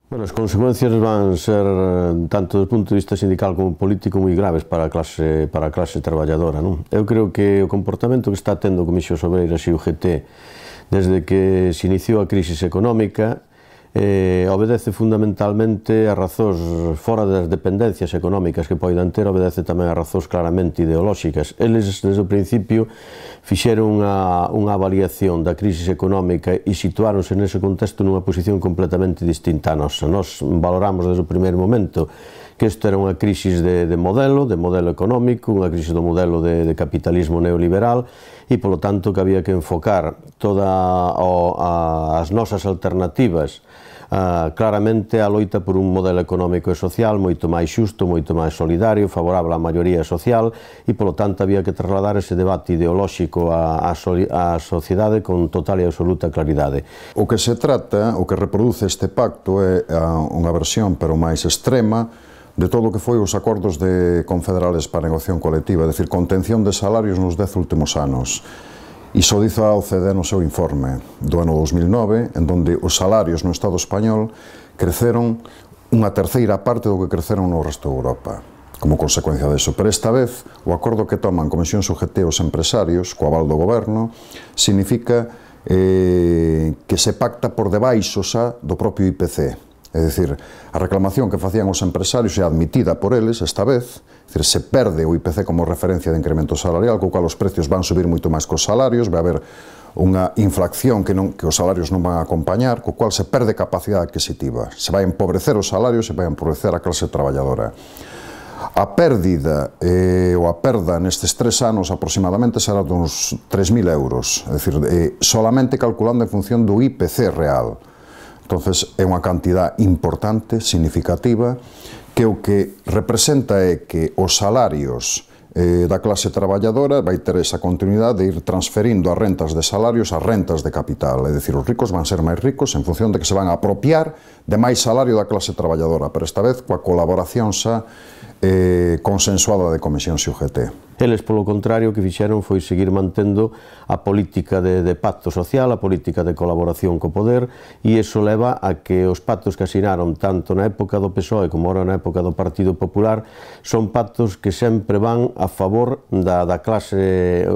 Bueno, as consecuencias van ser, tanto do punto de vista sindical como político, moi graves para a clase traballadora, non? Eu creo que o comportamento que está tendo o Comisións Obreiras e o UGT desde que se iniciou a crise económica obedece fundamentalmente a razóns fora das dependencias económicas que poidan ter, obedece tamén a razóns claramente ideolóxicas. Eles, desde o principio, fixeron unha avaliación da crise económica e situáronse nese contexto nunha posición completamente distinta a nosa. Nos valoramos desde o primeiro momento que isto era unha crise de modelo económico, unha crise do modelo de capitalismo neoliberal e, polo tanto, que había que enfocar todas as nosas alternativas claramente a loita por un modelo económico e social moito máis xusto, moito máis solidario, favorable á maioría social e, polo tanto, había que trasladar ese debate ideolóxico á sociedade con total e absoluta claridade. O que se trata, o que reproduce este pacto é unha versión, pero máis extrema, de todo o que foi os acordos confederales para a negociación colectiva, é dicir, contención de salarios nos 10 últimos anos. Iso dice a OCDE no seu informe do ano 2009, en donde os salarios no Estado español creceron unha terceira parte do que creceron no resto de Europa, como consecuencia deso. Pero esta vez, o acordo que toman Comisións UGT os empresarios, co aval do goberno, significa que se pacta por debaixo xa do propio IPC. É dicir, a reclamación que facían os empresarios é admitida por eles esta vez, é dicir, se perde o IPC como referencia de incremento salarial, co cual os precios van subir moito máis cos salarios, vai haber unha inflación que os salarios non van a acompañar, co cual se perde capacidade adquisitiva, se vai empobrecer os salarios, se vai empobrecer a clase traballadora. A pérdida ou a perda nestes 3 anos aproximadamente será de uns 3.000 euros, é dicir, solamente calculando en función do IPC real. Entonces, é unha cantidad importante, significativa, que o que representa é que os salarios da clase traballadora vai ter esa continuidade de ir transferindo as rentas de salarios ás rentas de capital. É dicir, os ricos van ser máis ricos en función de que se van a apropiar de máis salario da clase traballadora, pero esta vez coa colaboración xa consensuada de Comisións e UGT. Eles, polo contrario, o que fixeron foi seguir mantendo a política de pacto social, a política de colaboración co poder, e iso leva a que os pactos que asinaron tanto na época do PSOE como agora na época do Partido Popular son pactos que sempre van a favor da clase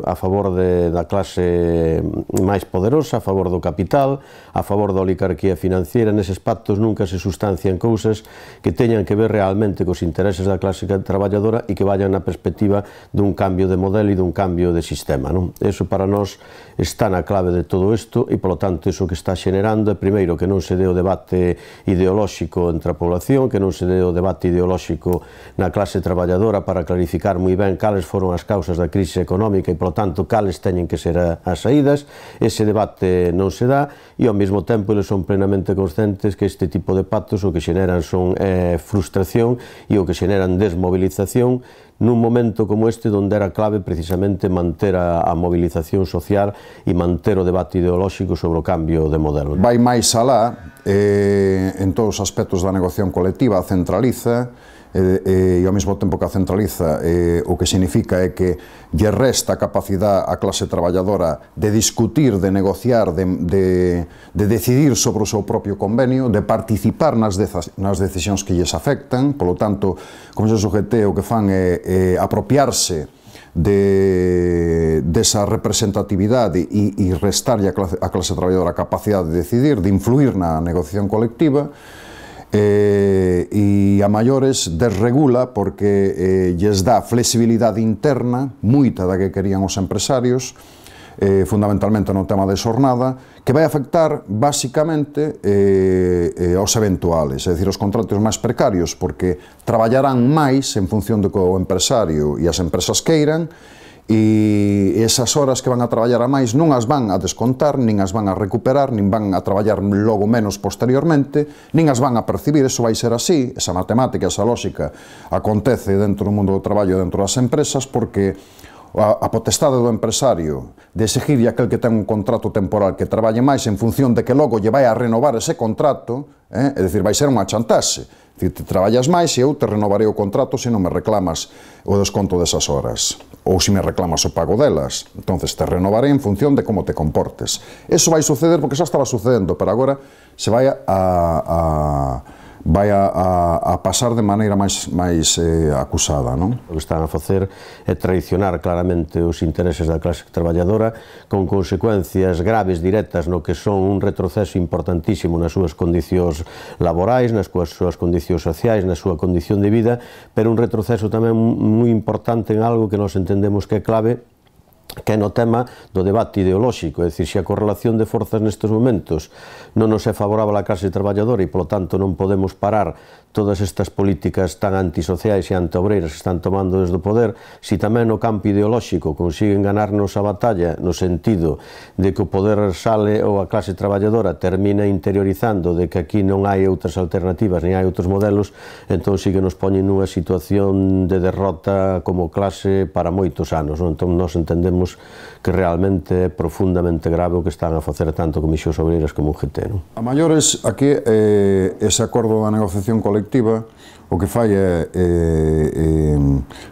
máis poderosa, a favor do capital, a favor da oligarquía financiera. Neses pactos nunca se sustancian cousas que teñan que ver realmente cos intereses da clase traballadora e que vayan na perspectiva dun cambio de modelo e dun cambio de sistema, non? Eso para nós está na clave de todo isto e, polo tanto, iso que está xenerando é, primeiro, que non se dé o debate ideolóxico entre a población, que non se dé o debate ideolóxico na clase traballadora para clarificar moi ben cales foron as causas da crise económica e, polo tanto, cales teñen que ser as saídas. Ese debate non se dá e, ao mesmo tempo, eles son plenamente conscientes que este tipo de pactos o que xeneran son frustración e o que xeneran desmovilización nun momento como este, onde era clave precisamente manter a movilización social e manter o debate ideolóxico sobre o cambio de modelo. Vai máis alá, en todos os aspectos da negociación colectiva, a centraliza, e ao mesmo tempo que a centraliza, o que significa é que lle resta a capacidade á clase traballadora de discutir, de negociar, de decidir sobre o seu propio convenio, de participar nas decisións que lles afectan. Polo tanto, como se UGT, o que fan é apropiarse desa representatividade e restarlle a clase traballadora a capacidade de decidir, de influir na negociación colectiva, e a maiores desregula porque lles dá flexibilidade interna, moita da que querían os empresarios, fundamentalmente no tema de xornada, que vai afectar basicamente aos eventuales, é dicir, os contratos máis precarios, porque traballarán máis en función do que o empresario e as empresas queiran, e esas horas que van a traballar a máis non as van a descontar, nin as van a recuperar, nin van a traballar logo menos posteriormente, nin as van a percibir. Eso vai ser así, esa matemática, esa lógica acontece dentro do mundo do traballo, dentro das empresas, porque a potestade do empresario de exigirlle aquel que ten un contrato temporal que traballe máis en función de que logo lle vai a renovar ese contrato, é dicir, vai ser unha chantaxe. Te traballas máis e eu te renovarei o contrato se non me reclamas o desconto desas horas, ou se me reclamas o pago delas. Entonces te renovarei en función de como te comportes. Eso vai suceder porque xa estaba sucedendo, pero agora se vai a vai a pasar de maneira máis acusada, non? O que están a facer é traicionar claramente os intereses da clase traballadora, con consecuencias graves directas no que son un retroceso importantísimo nas súas condicións laborais, nas súas condicións sociais, na súa condición de vida, pero un retroceso tamén moi importante en algo que nós entendemos que é clave, que é no tema do debate ideolóxico, é dicir, se a correlación de forzas nestes momentos non nos é favorável á clase traballadora e, polo tanto, non podemos parar todas estas políticas tan antisociais e antiobreiras que están tomando desde o poder, se tamén no campo ideolóxico consiguen ganarnos a batalla no sentido de que o poder sale ou a clase traballadora termina interiorizando de que aquí non hai outras alternativas nin hai outros modelos, entón sí que nos poñen nunha situación de derrota como clase para moitos anos, non? Entón nós entendemos que realmente é profundamente grave o que están a facer tanto Comisións Obreiras como o UGT, non? A maiores, aquí, ese acordo da negociación colectiva o que fai é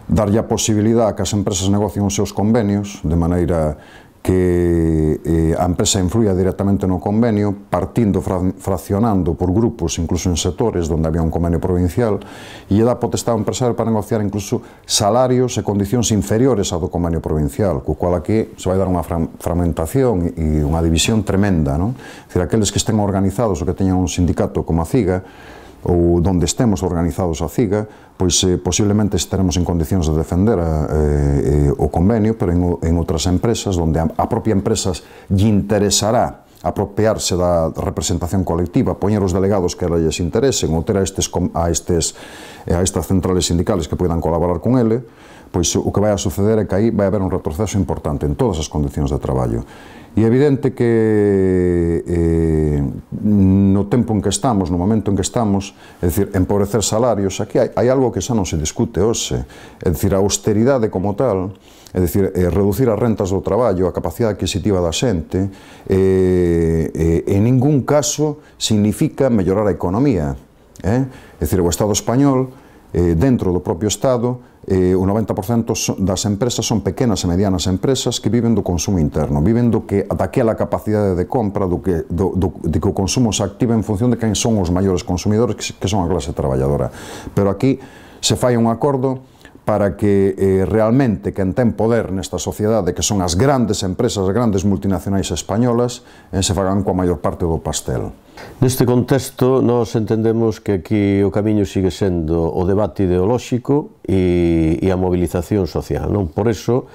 darlle a posibilidade a que as empresas negocien os seus convenios de maneira que a empresa influía directamente no convenio, partindo, fraccionando por grupos, incluso en sectores onde había un convenio provincial, e lle dá potestade ao empresario para negociar incluso salarios e condicións inferiores ao do convenio provincial, co cual aquí se vai dar unha fragmentación e unha división tremenda, non? É dicir, aqueles que estén organizados ou que teñan un sindicato como a CIGA, ou donde estemos organizados a CIGA, pois posiblemente estaremos en condicións de defender o convenio, pero en outras empresas, onde a propia empresa lle interesará apropiarse da representación colectiva, poñer os delegados que lles interesen, ou ter a estas centrales sindicales que poidan colaborar con ele, pois o que vai a suceder é que aí vai haber un retroceso importante en todas as condicións de traballo. E é evidente que no tempo en que estamos, no momento en que estamos, é dicir, empobrecer salarios, aquí hai algo que xa non se discute hoxe, é dicir, a austeridade como tal, é dicir, reducir as rentas do traballo, a capacidade adquisitiva da xente, en ningún caso significa mellorar a economía. É dicir, o Estado español, dentro do propio Estado, o 90% das empresas son pequenas e medianas empresas que viven do consumo interno, viven daquela capacidade de compra, de que o consumo se activa en función de quen son os maiores consumidores, que son a clase traballadora. Pero aquí se fai un acordo para que realmente quen ten poder nesta sociedade, que son as grandes empresas, as grandes multinacionais españolas, se fagan coa maior parte do pastel. Neste contexto, nós entendemos que aquí o camiño sigue sendo o debate ideolóxico e a mobilización social, non? Por iso,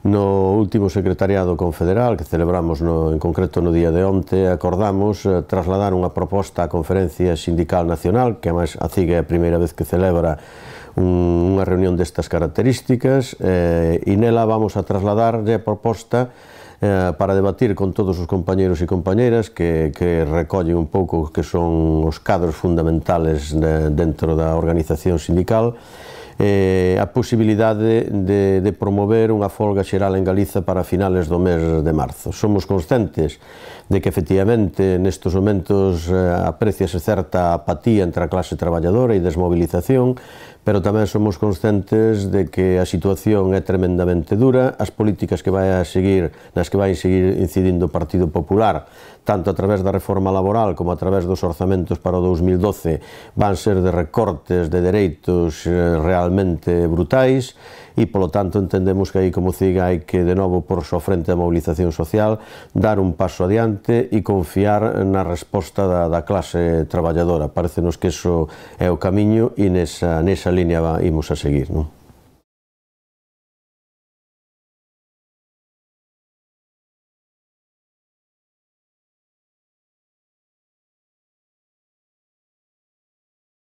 no último secretariado confederal que celebramos en concreto no día de onte, acordamos trasladar unha proposta á Conferencia Sindical Nacional, que además a CIGA é a primeira vez que celebra unha reunión destas características, e nela vamos a trasladar a proposta para debatir con todos os compañeros e compañeras que recollen un pouco que son os cadros fundamentales dentro da organización sindical, a posibilidade de promover unha folga xeral en Galiza para finales do mes de marzo. Somos conscientes de que efectivamente nestes momentos apreciase certa apatía entre a clase traballadora e desmovilización, pero tamén somos conscientes de que a situación é tremendamente dura, as políticas nas que vai seguir incidindo o Partido Popular, tanto a través da reforma laboral como a través dos orzamentos para o 2012, van ser de recortes de dereitos realmente brutais, e, polo tanto, entendemos que aí, como CIGA, hai que, de novo, porse ao frente da mobilización social, dar un paso adiante e confiar na resposta da clase traballadora. Parecenos que iso é o camiño e nesa liña imos a seguir, non?